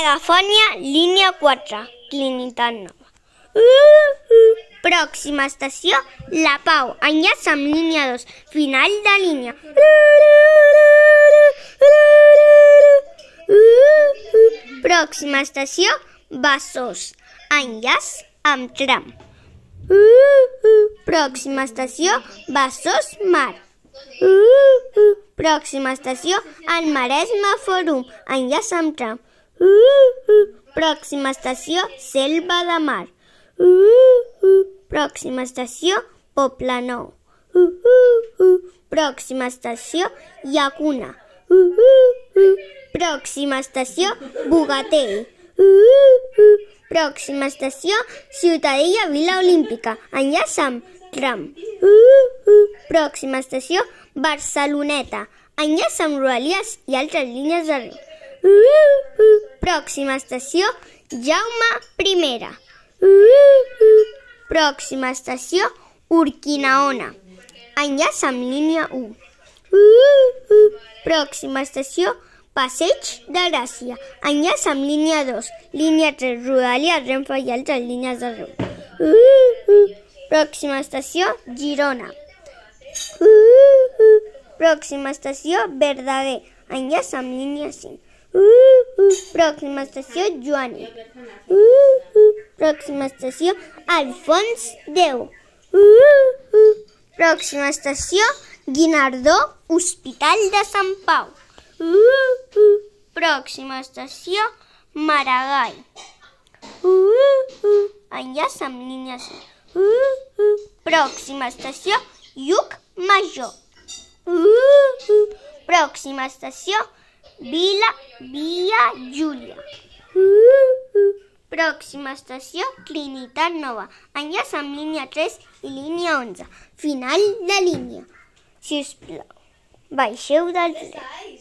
Megafònia, línia 4, Trinitat Nova. Pròxima estació, La Pau, enllaç amb línia 2, final de línia. Pròxima estació, Besòs, enllaç amb tram. Pròxima estació, Besòs Mar. Pròxima estació, El Maresme Fòrum, enllaç amb tram. Pròxima estació, Selva de Mar. Pròxima estació, Poblenou. Pròxima estació, Llacuna. Pròxima estació, Bogatell. Pròxima estació, Ciutadella Vila Olímpica, enllaç amb tram. Pròxima estació, Barceloneta, enllaç amb Rodalies i altres línies de riu. Pròxima estació, Jaume I. Pròxima estació, Urquinaona, enllaç amb línia 1. Pròxima estació, Passeig de Gràcia, enllaç amb línia 2, línia 3, Rodalies, Renfe i altres línies de riu. Pròxima estació, Girona. Pròxima estació, Verdaguer, enllaç amb línia 5. Pròxima estació, Joaní. Pròxima estació, Alfons X. Pròxima estació, Guinardó, Hospital de Sant Pau. Pròxima estació, Maragall, enllaç amb línia 5. Pròxima estació, Llucmajor. Pròxima estació, Via Júlia. Pròxima estació, Trinitat Nova, enllaç amb línia 3 i línia 11, final de línia. Si us plau, baixeu del tren.